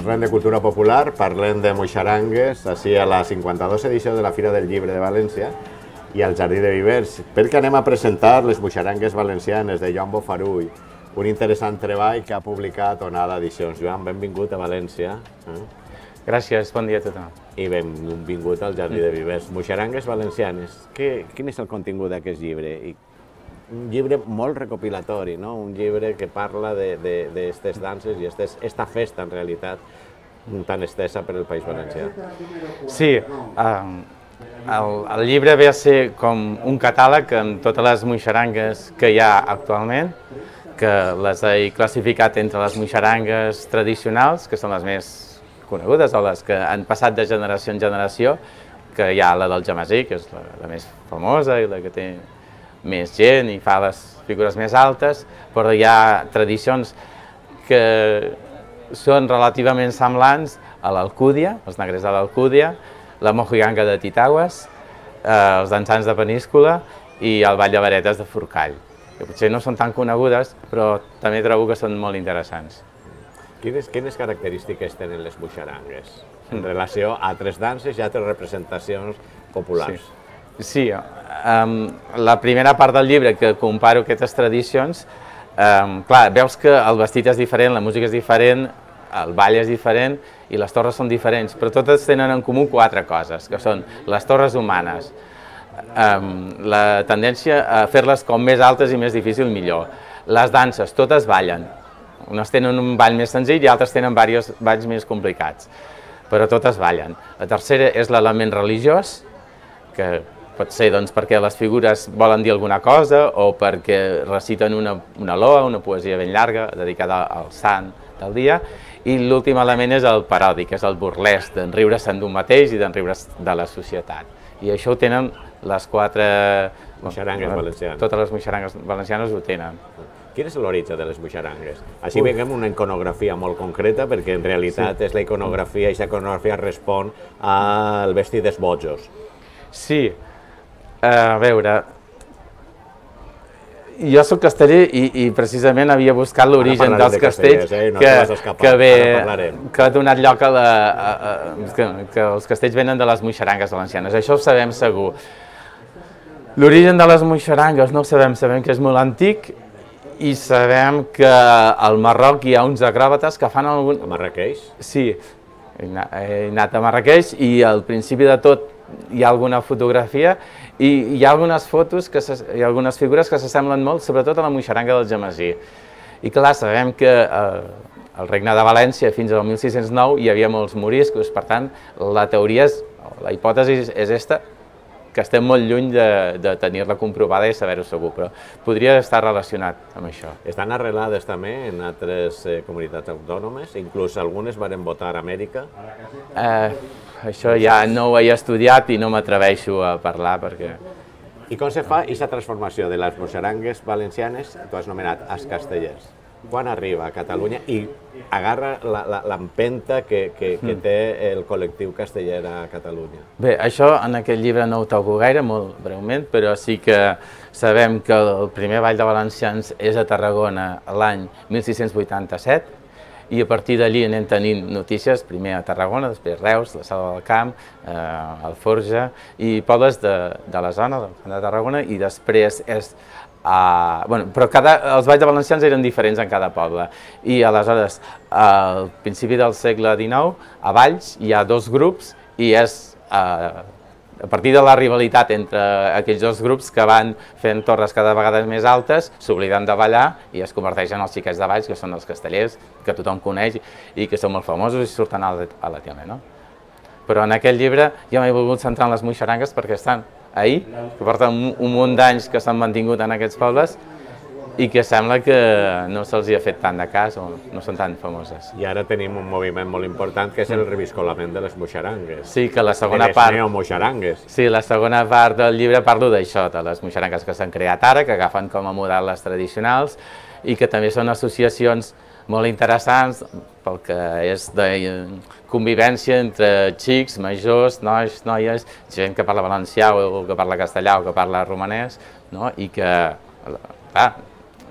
Parlem de cultura popular, parlem de moixarangues, així a la 52 edició de la Fira del Llibre de València i al Jardí de Vivers, perquè anem a presentar les moixarangues valencianes de Joan Bofarull, un interessant treball que ha publicat Onada Edicions. Joan, benvingut a València. Gràcies, bon dia a tothom. I benvingut al Jardí de Vivers. Moixarangues valencianes, quin és el contingut d'aquest llibre? Un llibre molt recopilatori, no? Un llibre que parla d'aquestes danses i aquesta festa, en realitat, tan estesa per el País Valencià. Sí, el llibre ve a ser com un catàleg amb totes les moixarangues que hi ha actualment, que les he classificat entre les moixarangues tradicionals, que són les més conegudes o les que han passat de generació en generació, que hi ha la del Jamasí, que és la més famosa i la que té més gent i fa les figures més altes, però hi ha tradicions que són relativament semblants a l'Alcúdia, els negrers de l'Alcúdia, la mojiganga de Titaigües, els dansants de Peníscola i el ball de varetes de Forcall, que potser no són tan conegudes, però també trobo que són molt interessants. Quines característiques tenen les moixarangues en relació a altres danses i altres representacions populars? Sí, la primera part del llibre que comparo aquestes tradicions, clar, veus que el vestit és diferent, la música és diferent, el ball és diferent i les torres són diferents, però totes tenen en comú quatre coses, que són les torres humanes, la tendència a fer-les com més altes i més difícil millor, les danses, totes ballen, unes tenen un ball més senzill i altres tenen diversos balls més complicats, però totes ballen. La tercera és l'element religiós, que pot ser perquè les figures volen dir alguna cosa o perquè reciten una loa, una poesia ben llarga dedicada al sant del dia, i l'últim element és el paròdic, que és el burlesc, d'enriure-se'n d'un mateix i d'enriure-se de la societat. I això ho tenen les quatre moixarangues valencianes. Totes les moixarangues valencianes ho tenen. Quin és l'origen de les moixarangues? Així veiem una iconografia molt concreta, perquè en realitat és la iconografia, i aquesta iconografia respon al vestit dels bojos. Sí, a veure, jo soc casteller i precisament havia buscat l'origen dels castells que ha donat lloc a que els castells venen de les moixarangues valencianes, això ho sabem segur. L'origen de les moixarangues no ho sabem, sabem que és molt antic i sabem que al Marroc hi ha uns acròbates que fan algun... A Marrakeix? Sí, he anat a Marrakeix i al principi de tot hi ha alguna fotografia i hi ha algunes fotos i algunes figures que s'assemblen molt, sobretot a la moixaranga del Jamasí. I clar, sabem que al Regne de València fins al 1609 hi havia molts moriscos, per tant, la teoria la hipòtesi és aquesta, que estem molt lluny de tenir-la comprovada i saber-ho segur, però podria estar relacionat amb això. Estan arrelades també en altres comunitats autònomes, inclús algunes varen votar a Amèrica? Això ja no ho he estudiat i no m'atreveixo a parlar perquè... I com se fa aquesta transformació de les moixarangues valencianes, tu has anomenat els castellers? Quan arriba a Catalunya i agarra l'empenta que té el col·lectiu casteller a Catalunya? Bé, això en aquest llibre no ho toco gaire, molt breument, però sí que sabem que el primer ball de valencians és a Tarragona l'any 1687, i a partir d'allí anem tenint notícies, primer a Tarragona, després Reus, la Selva del Camp, Alforja i pobles de la zona de Tarragona, i després és... Però els balls de valencians eren diferents en cada poble, i aleshores, al principi del segle XIX, a Valls hi ha dos grups i és a partir de la rivalitat entre aquells dos grups que van fent torres cada vegada més altes, s'obliden de ballar i es converteixen en els xiquets de Valls, que són els castellers, que tothom coneix i que són molt famosos i surten a la tele, no? Però en aquest llibre jo m'he volgut centrar en les moixarangues perquè estan ahir, que porten un munt d'anys que s'han mantingut en aquests pobles i que sembla que no se'ls ha fet tant de cas o no són tan famoses. I ara tenim un moviment molt important que és el reviscolament de les moixarangues. Sí, que la segona part... De les neomoixarangues. Sí, la segona part del llibre parlo d'això, de les moixarangues que s'han creat ara, que agafen com a model les tradicionals i que també són associacions molt interessants pel que és de convivència entre xics, majors, nois, noies, gent que parla valencià o que parla castellà o que parla romanès, i que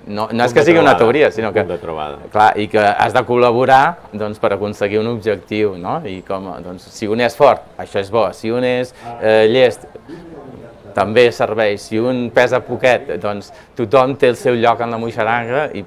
no és que sigui una teoria, sinó que... Punt de trobada. Clar, i que has de col·laborar doncs, per aconseguir un objectiu, no? I com, doncs, si un és fort, això és bo, si un és llest, també serveix, si un pesa poquet, doncs tothom té el seu lloc en la moixaranga i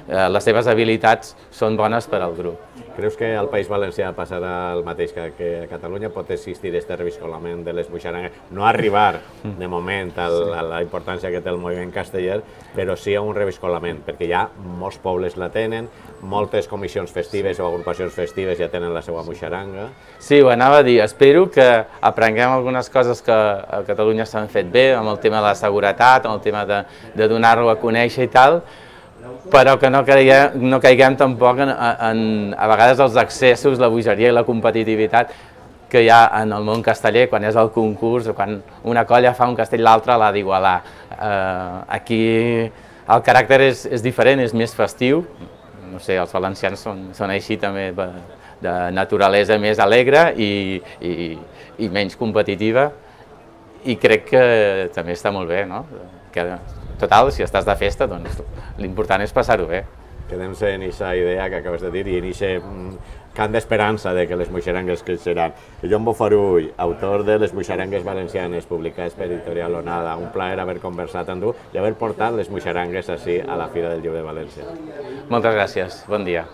les seves habilitats són bones per al grup. Creus que al País Valencià passarà el mateix que a Catalunya? Pot existir aquest reviscolament de les moixarangues? No arribar, de moment, a la importància que té el moviment casteller, però sí a un reviscolament, perquè ja molts pobles la tenen, moltes comissions festives o agrupacions festives ja tenen la seva moixaranga. Sí, ho anava a dir. Espero que aprenguem algunes coses que a Catalunya s'han fet bé, amb el tema de la seguretat, amb el tema de donar-ho a conèixer i tal, però que no caiguem tampoc a vegades els excessos, la bogeria i la competitivitat que hi ha en el món casteller quan és el concurs o quan una colla fa un castell l'altra l'ha d'igualar. Aquí el caràcter és diferent, és més festiu, no sé, els valencians són així també, de naturalesa més alegre i menys competitiva, i crec que també està molt bé, no? Total, si estàs de festa, doncs l'important és passar-ho bé. Quedem-se en aquesta idea que acabes de dir i en aquest cant d'esperança de que les moixarangues creixeran. Joan Bofarull, autor de Les moixarangues valencianes, publicades per Editorial Onada. Un plaer haver conversat amb tu i haver portat les moixarangues així a la Fira del Llibre de València. Moltes gràcies, bon dia.